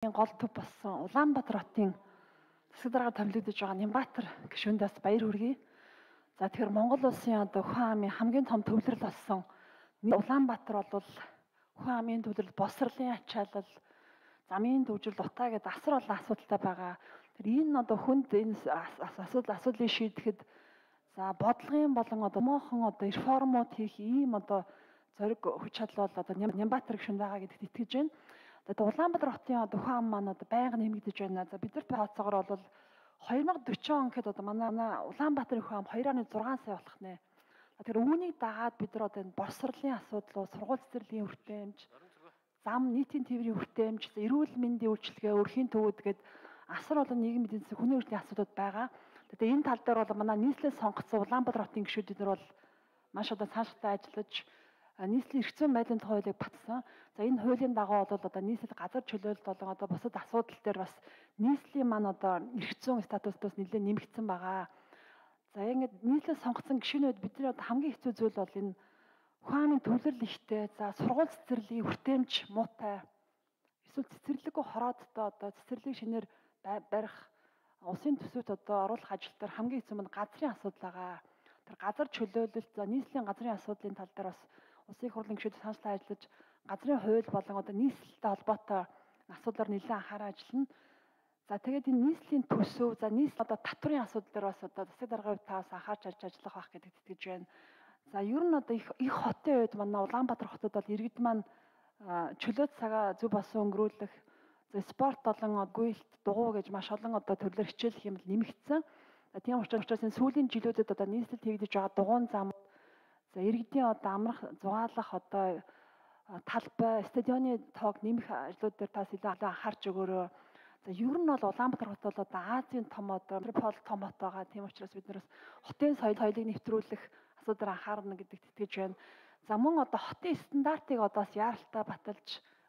Гол төв болсон Улаанбаатар хотын засаг дарга томилогдож байгаа Нямбаатар гишүүндээс баяр хүргэе. За тэгэхээр Монгол улсын одоо Хүн амын хамгийн том төвлөрөл болсон Улаанбаатар бол Хүн амын төвлөрөл, босрлын ачаалал, замын төвжирэл, утаа гэдэг асар олон асуудалтай байгаа. Тэр энэ одоо хүнд энэ асуудлыг шийдэхэд за бодлогын болон одоо моохон одоо реформууд хийх ийм одоо зориг хүч чадал бол одоо Нямбаатар гишүүнд байгаа гэдэгт итгэж байна. Тэгээд Улаанбаатар хотын одоо Хүн ам маань одоо байнга нэмэгдэж байна. За бид нар тооцоогоор бол 2040 он гэхэд одоо манай Улаанбаатарын Хүн ам 2.6 сая болох нэ. Тэгэхээр үүнийг дагаад бид нар одоо энэ босрлын асуудал, сургууль цэцэрлэгийн хүртээмж, зам нийтийн тээврийн хүртээмж, эрүүл мэндийн үйлчилгээ, өрхийн төвүүд гээд асар олон нийгмийн эдийн засгийн хүний эрхтний асуудал байгаа. Тэгээд энэ тал дээр бол манай нийслэл сонгогдсон Улаанбаатар хотын гишүүд нар бол маш одоо цаашдаа ажиллаж нийслэлийн эрх зүйн байдлын тухай хуулийг батсан. За энэ хуулийн дагуу бол одоо нийслэл газар чөлөөлөлт болон одоо бусад асуудал дээр бас нийслэлийн маань одоо эрх зүйн статустаас нэлээд нэмэгдсэн байгаа. За ингээд нийслэл сонгогдсон гишүүнүүд бидний одоо хамгийн хэцүү зүйл бол энэ Хүн амын төвлөрөл ихтэй, за сургууль цэцэрлэгийн хүртээмж муутай, эсвэл цэцэрлэггүй хороодтой одоо цэцэрлэг шинээр барих улсын төсөвт одоо оруулах ажил дээр хамгийн хэцүү нь газрын асуудал байгаа. Тэр газар чөлөөлөлт, за нийслэлийн газрын асуудлын тал дээр бас улсын их хурлын гишүүд цаашлаа ажиллаж газрын хууль болон одоо нийслэлтэй холбоотой асуудлаар нэлээд анхаарал ажиллана. За тэгээд энэ нийслэлийн төсөв, за нийслэл одоо татврын асуудал дээр бас одоо засаг даргын хувьд таас анхаарч ажиллах байх гэдэгт итгэж байна. За ер нь одоо их хотын үед манай Улаанбаатар хотод бол иргэд маань чөлөөт цагаа зөв болсон өнгөрүүлэх, за спорт болон гуйлт, дугуй гэж маш олон одоо төрлөөр хичээлэх юм нэмэгдсэн. За тийм учраас энэ сүүлийн жилүүдэд одоо нийслэлд хийгдэж байгаа дугуйн зам, за иргэдийн одоо амрах, зугаалах одоо талбай, стадионы тоог нэмэх ажлууд дээр тас илүү анхаарч өгөөрэй. За ер нь бол Улаанбаатар хот бол одоо Азийн том одоо метрополь том хот байгаа. Тийм учраас бид нараас хотын соёлыг нэвтрүүлэх асуудал анхаарна гэдэгт итгэж байна. За мөн одоо хотын стандартыг одоо бас яаралтай баталж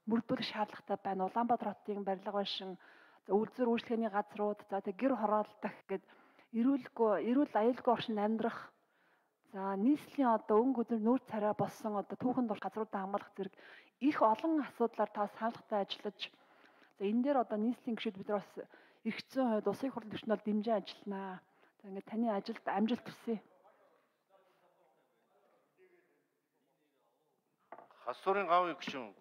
мөрдүүлэх шаардлагатай байна. Улаанбаатар хотын барилга байшин, за үйлдвэр үйлчлэгээний газрууд, за тэг гэр хороолдох гэдэг эрүүл аюулгүй орчинд амьдрах, за нийслэлийн одоо өнгө өдөр нүүр царай болсон одоо түүхэн дор газруудаа хамгаалах зэрэг их олон асуудлаар та саналгатай ажиллаж, за энэ дээр одоо нийслэлийн гишүүд бид нар бас эрх зүйн хувьд улсын их хурлын төвчнөд дэмжиж ажилланаа. За ингээд таны ажилд амжилт хүсье. Хасуурын гавын гишүүн.